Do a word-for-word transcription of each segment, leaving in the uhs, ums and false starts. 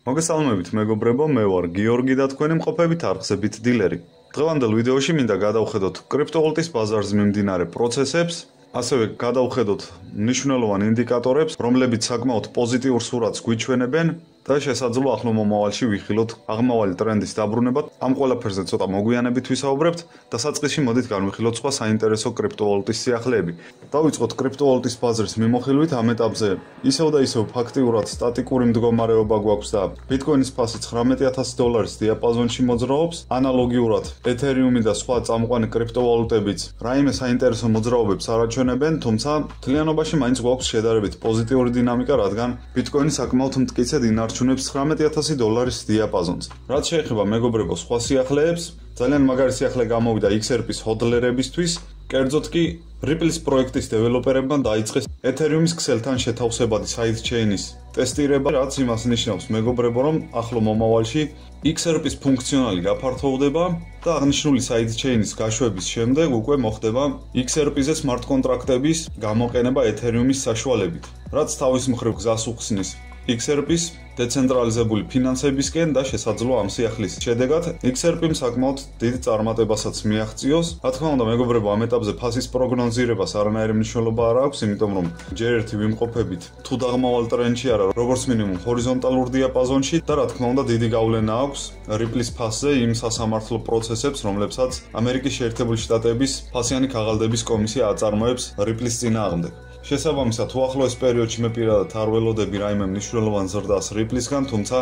მოგესალმებით მეგობრებო, მე ვარ გიორგი და თქვენი მყოფებით არხსებით დილერი. დღევანდელ ვიდეოში მინდა გადავხედოთ კრიპტოვალუტის ბაზარზე მიმდინარე პროცესებს, ასევე გადავხედოთ მნიშვნელოვან ინდიკატორებს, რომლებიც საკმაოდ პოზიტიურ სურათს გვიჩვენებენ და შესაძლოა ახლო მომავალში ვიხილოთ აღმავალი ტრენდის დაბრუნება. ამ ყველაფერზე ცოტა მოგვიანებით ვისაუბრებთ და საწყისში მოდით განვიხილოთ სხვა საინტერესო კრიპტოვალუტის სიახლეები. დავიწყოთ კრიპტოვალუტის ბაზრის მიმოხილვით. ამ ეტაპზე ისევ და ისევ ფაქტიურად სტატიკური მდგომარეობა გვაქვს და ბიტკოინის ფასი ცხრამეტი ათასი დოლარის დიაპაზონში მოძრაობს. ანალოგიურად ეთერიუმი და სხვა წამყვანი კრიპტოვალუტებიც რაიმე საინტერესო მოძრაობებს არ აჩვენებენ, თუმცა მთლიანობაში მაინც გვაქვს შედარებით პოზიტიური დინამიკა, რადგან ბიტკოინი საკმაოდ მტკიცედ ინარჩუნებს ცხრამეტი ათასი დოლარის დიაპაზონს. რაც შეეხება მეგობრებო სხვა სიახლეებს, ძალიან მაგარი სიახლე გამოვიდა X R P-ის ჰოდლერებისთვის, კერძოდ კი Ripple-ის პროექტის დეველოპერებმა დაიწყეს ეთერიუმის ქსელთან შეთავსებადი საიდჩეინის ტესტირება, რაც იმას ნიშნავს მეგობრებო, რომ ახლო მომავალში X R P-ის ფუნქციონალი გაფართოვდება და აღნიშნული საიდჩეინის გაშვების შემდეგ უკვე მოხდება X R P-ზე სმარტ კონტრაქტების გამოყენება ეთერიუმის საშუალებით, რაც თავის მხრივ გზას უხსნის X R P-ის დეცენტრალიზებული ფინანსებისკენ და შესაძლოა ამ სიახლის შედეგად X R P-მ საკმაოდ დიდ წარმატებასაც მიაღწიოს. რა თქმა უნდა, მეგობრებო, ამ ეტაპზე ფასის პროგნოზირებას არანაირი მნიშვნელობა არ აქვს, იმიტომ რომ ჯერ ერთი ვიმყოფებით თუ დაღმავალ ტრენდში არა, როგორც მინიმუმ ჰორიზონტალურ დიაპაზონში და რა თქმა უნდა, დიდი გავლენა აქვს Ripple-ის ფასზე იმ სასამართლო პროცესებს, რომლებსაც ამერიკის შეერთებული შტატების ფასიანი ქაღალდების კომისია აწარმოებს Ripple-ის წინააღმდეგ. შესაბამისად, უახლოეს პერიოდში მე პირადად არ ველოდები რაიმე მნიშვნელოვან ზრდას Ripple-ისგან, თუმცა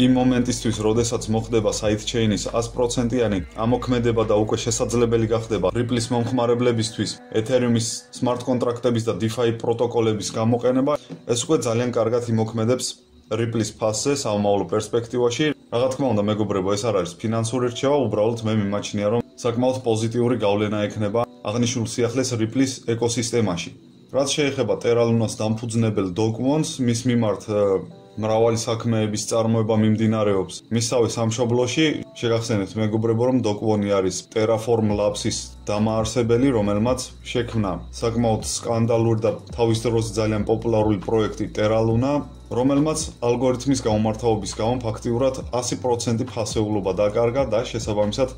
იმ მომენტისთვის, როდესაც მოხდება საიდჩეინის ას პროცენტიანი ამოქმედება და უკვე შესაძლებელი გახდება Ripple-ის მომხმარებლებისთვის ეთერიუმის სმარტ კონტრაქტების და DeFi პროტოკოლების გამოყენება, ეს უკვე ძალიან კარგად იმოქმედებს Ripple-ის ფასზე სამომავლო პერსპექტივაში. რა თქმა უნდა, მეგობრებო, ეს არ არის ფინანსური რჩევა, უბრალოდ მე მიმაჩნია, რომ საკმაოდ პოზიტიური გავლენა ექნება აღნიშნულ სიახლეს Ripple-ის ეკოსისტემაში. რაც შეეხება Terra Lunas დამფუძნებელ Dokwons, მის მიმართ მრავალი საქმეების წარმოება მიმდინარეობს მისავე სამშობლოში. შეგახსენებთ მეგობრებო, რომ Dokwon-ი არის Terraform Labs-ის დამაარსებელი, რომელმაც შექმნა საკმაოდ სკანდალური და თავის დროს ძალიან პოპულარული პროექტი Terra Luna, რომელმაც ალგორითმის გამომართაობის გამო ფაქტიურად ათი პროცენტი ფასეულობა დაკარგა და შესაბამისად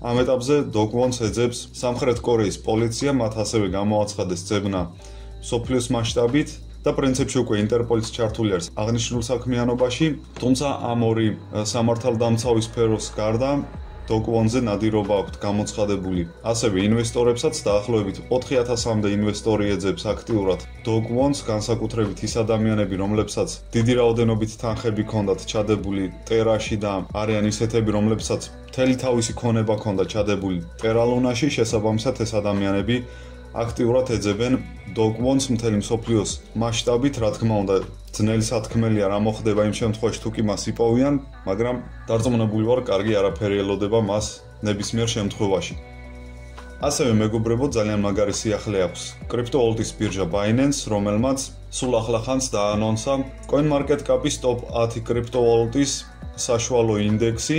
ამ ეტაპზე Dokwons ეძებს სამხრეთ კორეის პოლიცია, მათ ასევე გამოაცხადეს ძებნა სოფლიოს მასშტაბით და პრინციპში უკვე ინტერპოლის ჩართული არის აღნიშნულ საქმიანობაში, თუმცა ამ ორი სამართალდამცავი სფეროს გარდა Dokwon-ზე ნადირობა აქვთ გამოცხადებული ასევე ინვესტორებსაც დაახლოებით ოთხი ათასამდე ინვესტორი ეძებს აქტიურად Dokwon-ს, განსაკუთრებით ის ადამიანები, რომლებსაც დიდი რაოდენობით თანხები ჰქონდათ ჩადებული Terra-ში და არიან ისეთები, რომლებსაც მთელი თავისი ქონება ჰქონდა ჩადებული Terra Luna-ში, შესაბამისად ეს ადამიანები აქტიურად ეძებენ Dokwon-ს მთელი მსოფლიოს მასშტაბით. რა თქმა უნდა, ძნელი სათქმელია რა მოხდება იმ შემთხვევაში, თუ კი მას იპოვიან, მაგრამ დარწმუნებული ვარ, კარგი არაფერი ელოდება მას ნებისმიერ შემთხვევაში. ასევე მეგობრებო, ძალიან მაგარი სიახლე აქვს კრიპტოვალუტის ბირჟა Binance, რომელმაც სულ ახლახანს დაანონსა CoinMarketCap-ის ტოპ ათი კრიპტოვალუტის საშუალო ინდექსი.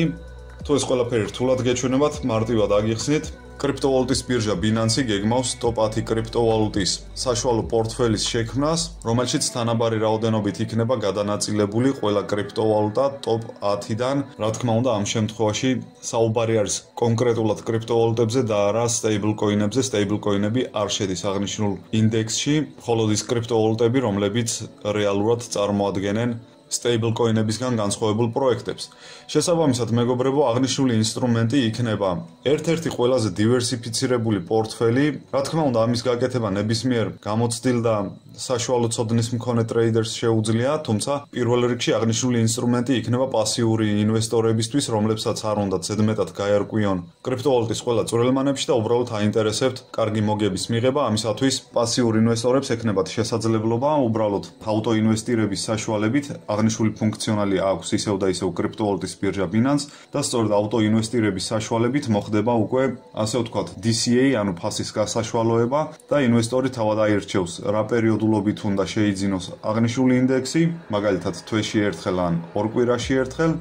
თუ ეს ყველაფერი რთულად გეჩვენებათ, მარტივად აგიხსნით. კრიპტოვალუტის ბირჟა Binance გეგმავს ტოპ ათი კრიპტოვალუტის საშუალო პორტფელის შექმნას, რომელშიც თანაბარი რაოდენობით იქნება გადანაწილებული ყველა კრიპტოვალუტა ტოპ ათიდან. რა თქმა უნდა, ამ შემთხვევაში საუბარი არის კონკრეტულად კრიპტოვალუტებზე და არა სტეიბლკოინებზე. სტეიბლკოინები არ შედის აღნიშნულ ინდექსში, მხოლოდ ის კრიპტოვალუტები, რომლებიც რეალურად წარმოადგენენ სტეიბლკოინებისგან განსხვავებულ პროექტებს. შესაბამისად, მეგობრებო, აღნიშნული ინსტრუმენტი იქნება ერთ-ერთი ყველაზე დივერსიფიცირებული პორტფელი. რა თქმა უნდა, ამის გაკეთება ნებისმიერ გამოცდილ და საშუალო ცოდნის მქონე ტრეიდერს შეუძლია, თუმცა პირველ რიგში აღნიშნული ინსტრუმენტი იქნება პასიური ინვესტორებისთვის, რომლებსაც არ უნდათ ზედმეტად გაერკვიონ კრიპტოვალუტის ყველა წვრილმანებში და უბრალოდ აინტერესებთ კარგი მოგების მიღება. ამისათვის პასიურ ინვესტორებს ექნებათ შესაძლებლობა უბრალოდ აუტოინვესტირების საშუალებით აღნიშნული ფუნქციონალი აქვს ისევ და ისევ კრიპტოვალუტის ბირჟა Binance და სწორედ აუტოინვესტირების საშუალებით მოხდება უკვე ასე ვთქვათ D C A, ანუ ფასის გასაშუალოება და ინვესტორი თავად აირჩევს რა პერიოდულობით უნდა შეიძინოს აღნიშნული ინდექსი, მაგალითად თვეში ერთხელ ან ორ კვირაში ერთხელ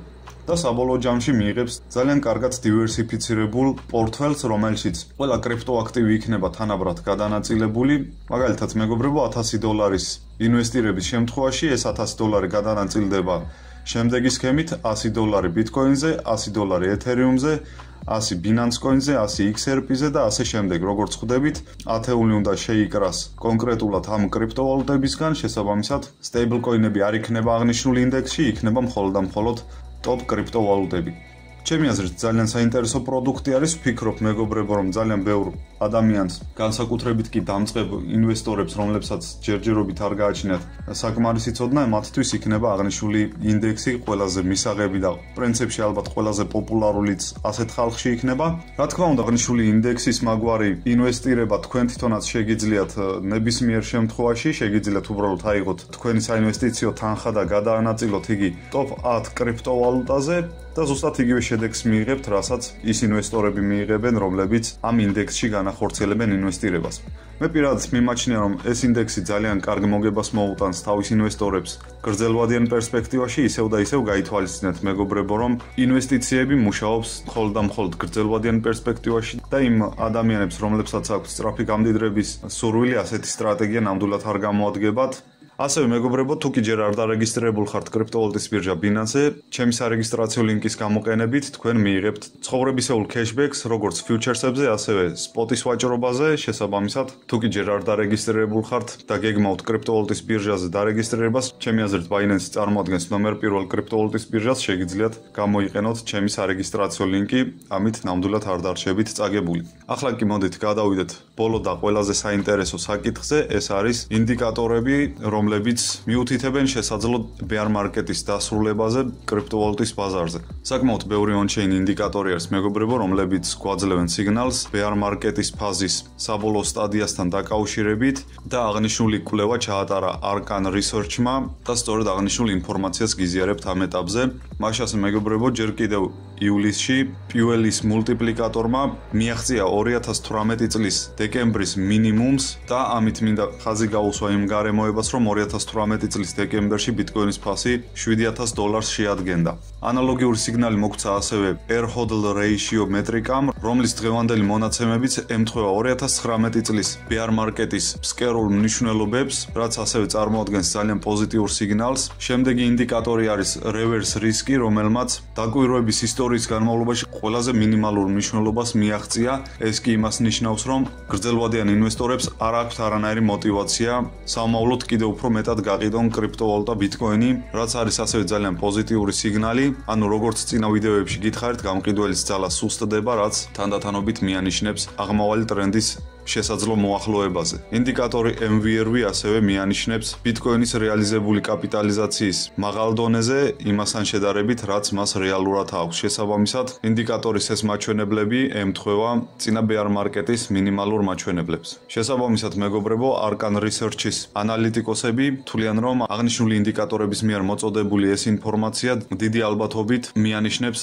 და საბოლოო ჯამში მიიღებს ძალიან კარგად დივერსიფიცირებულ პორტფელს, რომელშიც ყველა კრიპტოაქტივი იქნება თანაბრად გადანაწილებული. მაგალითად, მეგობრებო, ათასი დოლარის ინვესტირების შემთხვევაში ეს ათასი დოლარი გადანაწილდება შემდეგი სქემით one hundred დოლარი Bitcoin-ზე, one hundred დოლარი Ethereum-ზე, one hundred Binance Coin-ზე, one hundred X R P-ზე და ასე შემდეგ. Როგორც ხვდებით, ათეული უნდა შეიკრას კონკრეტულად ამ კრიპტოვალუტებისგან, შესაბამისად, stable coin-ები არ იქნება აღნიშნული ინდექსში, იქნება მხოლოდ და მხოლოდ top კრიპტოვალუტები. ჩემი აზრით ძალიან საინტერესო პროდუქტი არის, ვფიქრობ მეგობრებო, რომ ძალიან ბევრ ადამიანს, განსაკუთრებით კი დამწყებ ინვესტორებს, რომლებსაც ჯერჯერობით არ გააჩნიათ საკმარისი ცოდნა, მათთვის იქნება აღნიშნული ინდექსი ყველაზე მისაღები და პრინციპში ალბათ ყველაზე პოპულარულიც ასეთ ხალხში იქნება. Რა თქმა უნდა, აღნიშნული ინდექსის მაგვარი ინვესტირება თქვენ თვითონაც შეგიძლიათ ნებისმიერ შემთხვევაში, შეგიძლიათ უბრალოდ აიღოთ თქვენი საინვესტიციო თანხა და გადაანაწილოთ იგი top ten კრიპტოვალუტაზე და ზუსტად იგივე შედეგს მიიღებთ, რასაც ის ინვესტორები მიიღებენ, რომლებიც ამ ინდექსში განახორციელებენ ინვესტირებას. მე პირადად მიმაჩნია, რომ ეს ინდექსი ძალიან კარგ მოგებას მოუტანს თავის ინვესტორებს გრძელვადიან პერსპექტივაში, ისევ და ისევ გაითვალისწინეთ მეგობრებო, რომ ინვესტიციები მუშაობს მხოლოდ და მხოლოდ გრძელვადიან პერსპექტივაში და იმ ადამიანებს, რომლებსაც აქვს სწრაფი გამდიდრების სურვილი, ასეთი სტრატეგია ნამდვილად არ გამოადგებათ. ასევე მეგობრებო, თუ კი ჯერ არ დარეგისტრირებულ ხართ კრიპტოვალუტის ბირჟა Binance-ზე, ჩემი სარეგისტრაციო ლინკის გამოყენებით თქვენ მიიღებთ ცხოვრებისეულ cashbacks, როგორც future-ებზე, ასევე spot-ის ვაჭრობაზე, შესაბამისად, თუ კი ჯერ არ დარეგისტრირებულ ხართ და გეგმავთ კრიპტოვალუტის ბირჟაზე დარეგისტრირებას, ჩემი აზრით Binance წარმოადგენს ნომერ პირველ კრიპტოვალუტის ბირჟას, შეგიძლიათ გამოიყენოთ ჩემი სარეგისტრაციო ლინკი, ამით ნამდვილად არ დარჩებით წაგებული. ახლა კი მოდით გადავიდეთ ბოლო და ყველაზე საინტერესო საკითხზე, ეს არის ინდიკატორები, რომ რომლებიც მიუთითებენ შესაძლო bear market-ის დასრულებაზე კრიპტოვალუტის ბაზარზე. საკმაოდ ბევრი on-chain ინდიკატორი არის მეგობრებო, რომლებიც გვაძლევენ სიგნალს bear market-ის ფაზის საბოლოო სტადიასთან დაკავშირებით და აღნიშნული კვლევა ჩაატარა Arcan Research-მა და სწორედ აღნიშნული ინფორმაციას გიზიარებთ ამ ეტაპზე. მაშასე მეგობრებო, ჯერ კიდევ ივლისში პიუელის მულტიპლიკატორმა მიაღწია ორი ათას თვრამეტი წლის დეკემბრის მინიმუმს და ამით მინდა ხაზი გაუსვა იმ გარემოებას, რომ ორი ათას თვრამეტი წლის დეკემბერში ბიტკოინის ფასი შვიდი ათას დოლარს შეადგენდა. ანალოგიური სიგნალი მოგვცა ასევე R hodl ratio მეტრიკამ, რომლის დღევანდელი მონაცემებიც ემთხვევა ორი ათას ცხრამეტი წლის bear market-ის ფსკერულ მნიშვნელობებს, რაც ასევე წარმოადგენს ძალიან პოზიტიურ სიგნალს. შემდეგი ინდიკატორი არის reverse risk-ი, რომელმაც დაკვირვების ისტორიის განმავლობაში ყველაზე მინიმალურ მნიშვნელობას მიაღწია. ეს კი იმას ნიშნავს, რომ გრძელვადიან ინვესტორებს არ აქვთ არანაირი мотиваცია სამოავლოდ კიდევ უფრო მეტად გაყიდონ კრიპტოვალუტა ბიტკოინი, რაც არის ასევე ძალიან პოზიტიური სიგნალი. ანუ როგორც წინა ვიდეოებში გითხარით, გამყიდველის ძალა სუსტდება, რაც თანდათანობით მიანიშნებს აღმავალი ტრენდის შესაძლო მოახლოებაზე. ინდიკატორი M V R V ასევე მიანიშნებს ბიტკოინის რეალიზებული კაპიტალიზაციის მაღალ დონეზე, იმასთან შედარებით, რაც მას რეალურად აქვს. შესაბამისად, ინდიკატორის ეს მაჩვენებლები ემთხვევა წინა bear market-ის მინიმალურ მაჩვენებლებს. შესაბამისად, მეგობრებო, Arcan Research-ის ანალიტიკოსები თვლიან, რომ აღნიშნული ინდიკატორების მიერ მოწოდებული ეს ინფორმაცია დიდი ალბათობით მიანიშნებს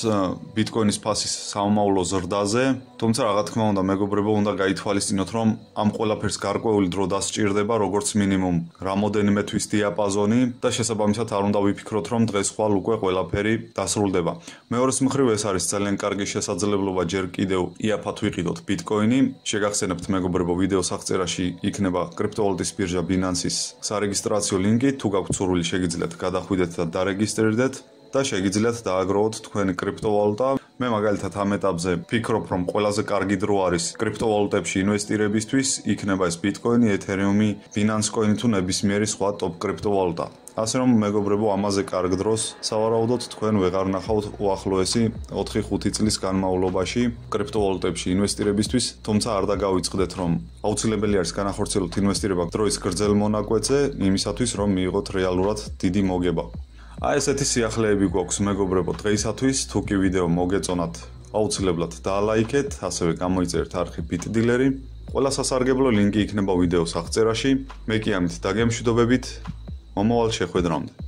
ბიტკოინის ფასის სამომავლო ზრდაზე, თუმცა რა თქმა უნდა, მეგობრებო, უნდა გაითვალისწინოთ, რომ ამ ყველაფერს გარკვეული დრო დასჭირდება, როგორც მინიმუმ რამოდენიმე თვის დიაპაზონი და შესაბამისად არ უნდა ვიფიქროთ, რომ დღეს ხვალ უკვე ყველაფერი დასრულდება. მეორეს მხრივ ეს არის ძალიან კარგი შესაძლებლობა ჯერ კიდევ იაფად ვიყიდოთ ბიტკოინი. შეგახსენებთ მეგობრებო, ვიდეოს აღწერაში იქნება კრიპტოვალუტის ბირჟა Binance-ის სარეგისტრაციო ლინკი, თუ გაქვთ სურვილი შეგიძლიათ გადახვიდეთ და დარეგისტრირდეთ და შეგიძლიათ დააგროვოთ თქვენი კრიპტოვალუტა. მე მაგალითად ამ ეტაპზე ვფიქრობ, რომ ყველაზე კარგი დრო არის კრიპტოვალუტებში ინვესტირებისთვის, იქნება ეს ბიტკოინი, ეთერიუმი, Binance Coin თუ ნებისმიერი სხვა ტოპ კრიპტოვალუტა. ასე რომ მეგობრებო, ამაზე კარგ დროს სავარაუდოდ თქვენ ვეღარ ნახავთ უახლოესი ოთხი ხუთი წლის განმავლობაში კრიპტოვალუტებში ინვესტირებისთვის, თუმცა არ დაგავიწყდეთ, რომ აუცილებელი არის განახორციელოთ ინვესტირება დროის გრძელ მონაკვეთზე, იმისათვის რომ მიიღოთ რეალურად დიდი მოგება. აი ესეთი სიახლეები გვაქვს მეგობრებო დღეისათვის. თუ კი ვიდეო მოგეწონათ, აუცილებლად დაალაიქეთ, ასევე გამოიწერეთ არხი BitDealer-ი. ყველა სასარგებლო ლინკი იქნება ვიდეოს აღწერაში. მე კი ამით დაგემშვიდობებით. მომავალ შეხვედრამდე.